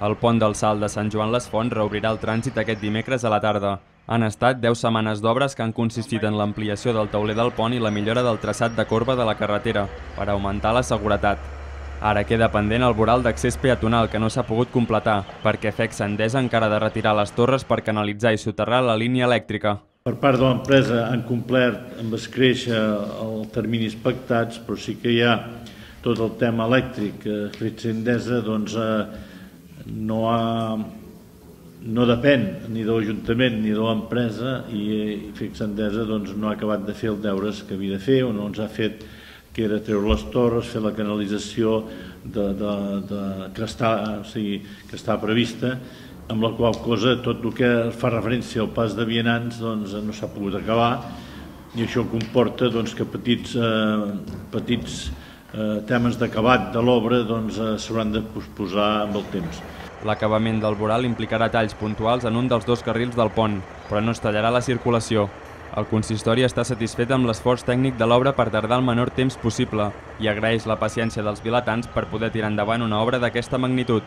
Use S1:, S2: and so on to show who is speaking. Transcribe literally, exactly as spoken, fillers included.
S1: El pont del Salt de Sant Joan les Fonts reobrirà el trànsit aquest dimecres a la tarda. Han estat deu setmanes d'obres que han consistit en l'ampliació del tauler del pont i la millora del traçat de corba de la carretera per augmentar la seguretat. Ara queda pendent el voral d'accés peatonal que no s'ha pogut completar perquè Fexa Endesa encara ha de retirar les torres per canalitzar i soterrar la línia elèctrica.
S2: Per part de l'empresa han complert amb escréixer els terminis pactats, però sí que hi ha tot el tema elèctric. Fexa Endesa doncs, no, ha, no depèn ni de l'Ajuntament ni de l'empresa i Fexa Endesa doncs, no ha acabat de fer els deures que havia de fer o no ens ha fet, que era treure les torres, fer la canalització de, de, de, que, està, o sigui, que està prevista, amb la qual cosa tot el que fa referència al pas de vianants doncs, no s'ha pogut acabar i això comporta doncs, que petits, eh, petits eh, temes d'acabat de l'obra doncs, eh, s'hauran de posposar amb el temps.
S1: L'acabament del voral implicarà talls puntuals en un dels dos carrils del pont, però no es tallarà la circulació. El consistori està satisfet amb l'esforç tècnic de l'obra per tardar el menor temps possible i agraeix la paciència dels vilatans per poder tirar endavant una obra d'aquesta magnitud.